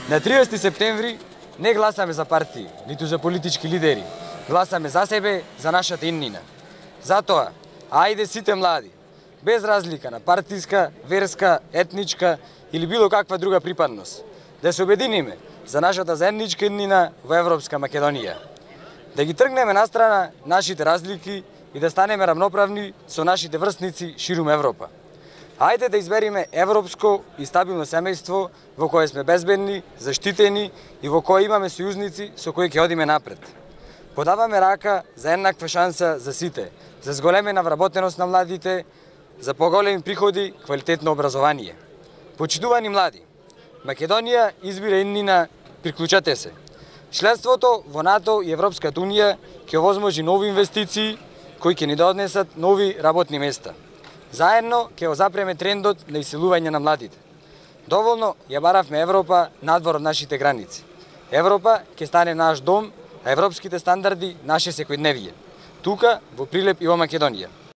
На 30 септември не гласаме за партии, ниту за политички лидери. Гласаме за себе, за нашата иднина. Затоа, ајде сите млади, без разлика на партиска, верска, етничка или било каква друга припадност, да се обединиме за нашата заедничка иднина во Европска Македонија. Да ги тргнеме настрана нашите разлики и да станеме равноправни со нашите врсници ширум Европа. Ајде да избериме европско и стабилно семејство во кое сме безбедни, заштитени и во кое имаме сојузници со кои ќе одиме напред. Подаваме рака за еднаква шанса за сите, за зголемена вработеност на младите, за поголеми приходи, квалитетно образование. Почитувани млади, Македонија избира иднина, приклучате се. Членството во НАТО и Европската Унија ќе овозможи нови инвестиции кои ќе ни донесат нови работни места. Заедно ќе запреме трендот на иселување на младите. Доволно ја баравме Европа надвор од нашите граници. Европа ќе стане наш дом, а европските стандарди наше секојдневие. Тука, во Прилеп и во Македонија.